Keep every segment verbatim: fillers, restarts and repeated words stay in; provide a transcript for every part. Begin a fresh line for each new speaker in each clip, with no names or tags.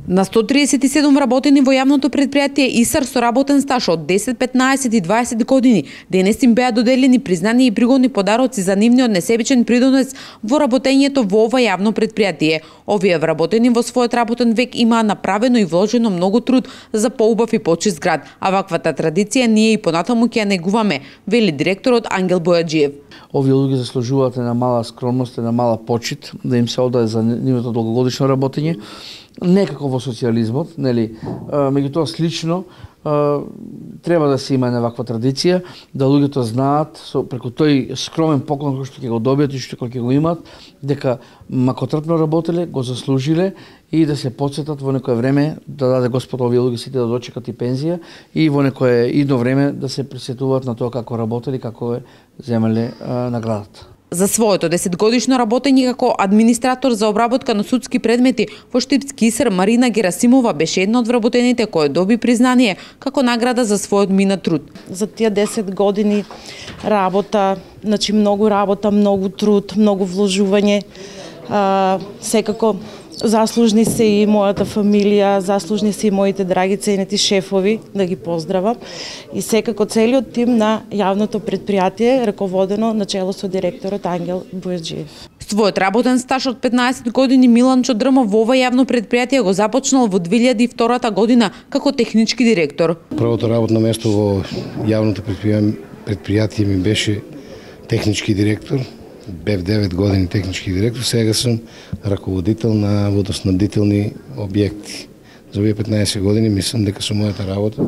На сто триесет и седум работени во јавното предпријатие ИСАР со работен стаж од десет, петнаесет и дваесет години, денес им беа доделени признани и пригодни подароци за нивниот несебичен придонес во работењето во ова јавно предпријатие. Овие вработени во својот работен век имаа направено и вложено многу труд за поубав и почист град, а ваквата традиција ние и понатаму ќе ја негуваме, вели директорот Ангел Бојаджиев.
Овие луѓе заслужуваат една мала скромност, една мала почит, да им се одаде за нивното долгогодишно работење. Некако во социјализмот, нели, меѓутоа слично треба да се има една ваква традиција, да луѓето знаат со преку тој скромен поклон кој што ќе го добијат и што ќе го имаат, дека макотрпно работеле, го заслужиле и да се потсетат во некое време да даде Господ овие луѓе сите да дочекат и пензија и во некое идно време да се присетуваат на тоа како работели, како е земеле наградата.
За своето десетгодишно работење како администратор за обработка на судски предмети во Штипски ИСАР, Марина Герасимова беше една од вработените која доби признание како награда за својот минат труд.
За тие десет години работа, значи многу работа, многу труд, многу вложување, а, секако заслужни се и мојата фамилија, заслужни се и моите драги ценети шефови, да ги поздравам, и секако целиот тим на јавното предпријатие, раководено начело со директорот Ангел Бојаджиев.
Својот работен стаж од петнаесет години Миланчо Дрмов во ова јавно предпријатие го започнал во две илјади и втора година како технички директор.
Првото работно место во јавното предпријатие ми беше технички директор. Бев девет години технички директор, сега сум раководител на водоснабдителни објекти. За овие петнаесет години мислам дека со мојата работа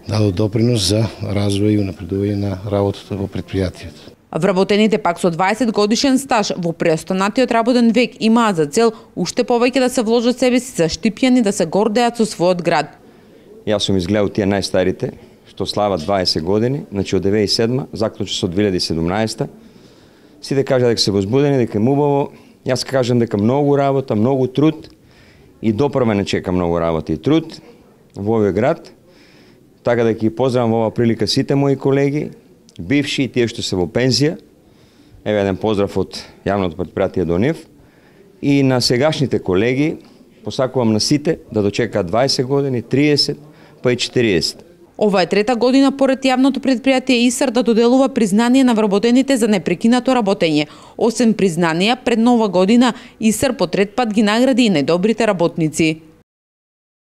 дадо допринос за развој и унапредување на работата во предпријатието.
Вработените пак со дваесет годишен стаж во преостанатиот работен век имаат за цел уште повеќе да се вложат себе си за Штипјани да се гордеат со својот град.
Јас сум изгледал тие најстарите што слават дваесет години, значи од две илјади и седма, заклучи со две илјади и седумнаесета. Сите кажа дека се возбудени, дека е убаво. Јас кажам дека многу работа, многу труд и допрва не чека многу работа и труд во овој град. Така да ќе поздравам во оваа прилика сите мои колеги, бивши и тие што се во пензија. Еве еден поздрав од јавното предпријатие до нив. И на сегашните колеги посакувам на сите да дочекаат дваесет години, триесет, па и четириесет.
Ова е трета година поред јавното предпријатие ИСАР да доделува признание на вработените за непрекинато работење. Осем признанија, пред нова година ИСАР по трет пат ги награди и најдобрите работници.